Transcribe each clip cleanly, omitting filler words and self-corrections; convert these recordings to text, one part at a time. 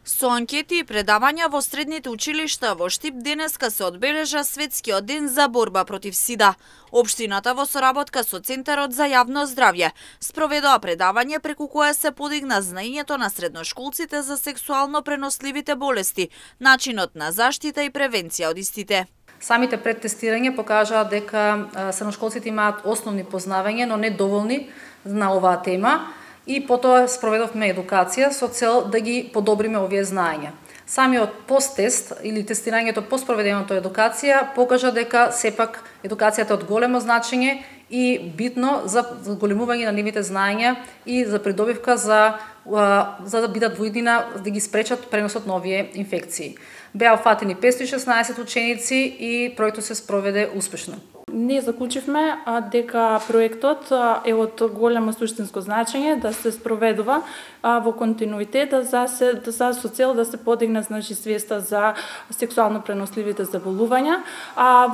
Со анкети и предавања во средните училишта во Штип денеска се одбележа Светскиот ден за борба против СИДА. Општината во соработка со Центарот за јавно здравје спроведува предавање преку кое се подигна знаењето на средношколците за сексуално преносливите болести, начинот на заштита и превенција од истите. Самите предтестирања покажаа дека средношколците имаат основни познавања, но не доволни на оваа тема. И потоа спроведовме едукација со цел да ги подобриме овие знаења. Самиот посттест или тестирањето по спроведеното едукација покажа дека сепак едукацијата е од големо значење и битно за зголемување на нивните знаења и за придобивка за да бидат во иднина да ги спречат преносот на овие инфекции. Беа фатени 516 ученици и проектот се спроведе успешно. Ние заклучивме дека проектот е од големо суштинско значење да се спроведува во континуитет со цел да се подигне свеста за сексуално преносливите заболувања.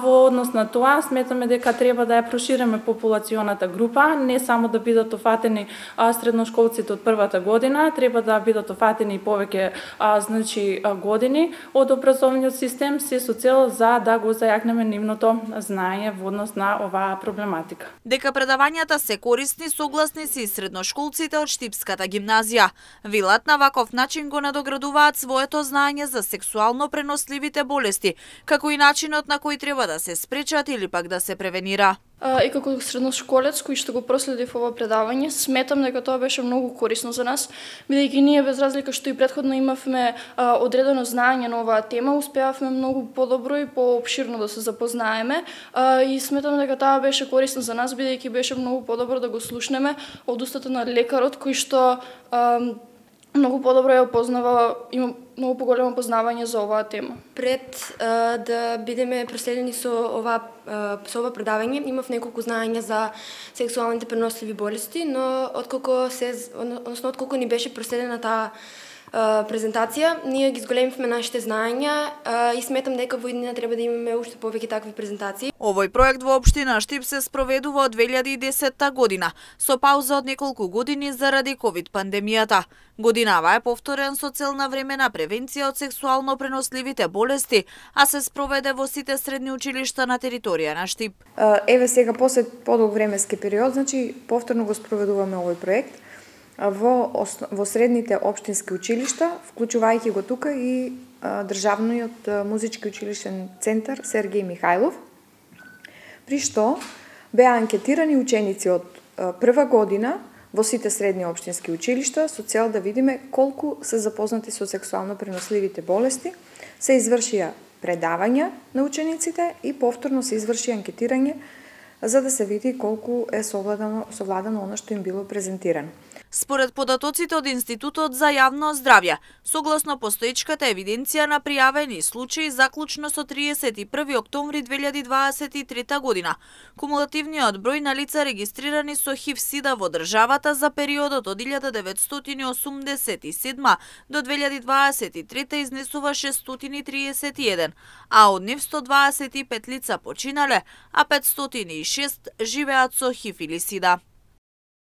Во однос на тоа сметаме дека треба да ја прошириме популационата група, не само да бидат офатени средношколците од првата година, треба да бидат офатени и повеќе години од образовниот систем, се со цел за да го зајакнеме нивното знаење во однос на оваа проблематика. Дека предавањата се корисни, согласни се и средношколците од Штипската гимназија. Велат на ваков начин го надоградуваат своето знаење за сексуално преносливите болести, како и начинот на кој треба да се спречат или пак да се превенира. И како средношколец кој што го проследив ова предавање, сметам дека тоа беше многу корисно за нас, бидејќи ние без разлика што и претходно имавме одредено знаење на оваа тема, успеавме многу подобро и поопширно да се запознаеме и сметам дека тоа беше корисно за нас, бидејќи беше многу подобро да го слушнеме од устата на лекарот кој што многу подобро ја опознава, има многу поголемо познавање за оваа тема. Пред да бидеме проследени со ова предавање, имав неколку знаења за сексуалните преносливи болести, но отколку ни беше проследена таа презентација, ние ги зголемивме нашите знаења и сметам дека во иднина треба да имаме уште повеќе такви презентации. Овој проект во општина Штип се спроведува од 2010 година, со пауза од неколку години заради ковид пандемијата. Годинава е повторен со цел на времена превенција од сексуално преносливите болести, а се спроведе во сите средни училишта на територија на Штип. Еве сега после подолг временски период, повторно го спроведуваме овој проект во средните општински училишта, вклучувајќи го тука и државниот музички училишен центар Сергеј Михајлов, при што беа анкетирани ученици од прва година во сите средни општински училишта со цел да видиме колку се запознати со сексуално преносливите болести, се извршија предавања на учениците и повторно се изврши анкетирање за да се види колку е совладано она што им било презентирано. Според податоците од Институтот за јавно здравје, согласно постоечката евиденција на пријавени случаи заклучно со 31 октомври 2023 година, кумулативниот број на лица регистрирани со ХИВ-СИДА во државата за периодот од 1987 до 2023 изнесува 631, а од нив 125 лица починале, а 506 живеат со ХИВ или СИДА.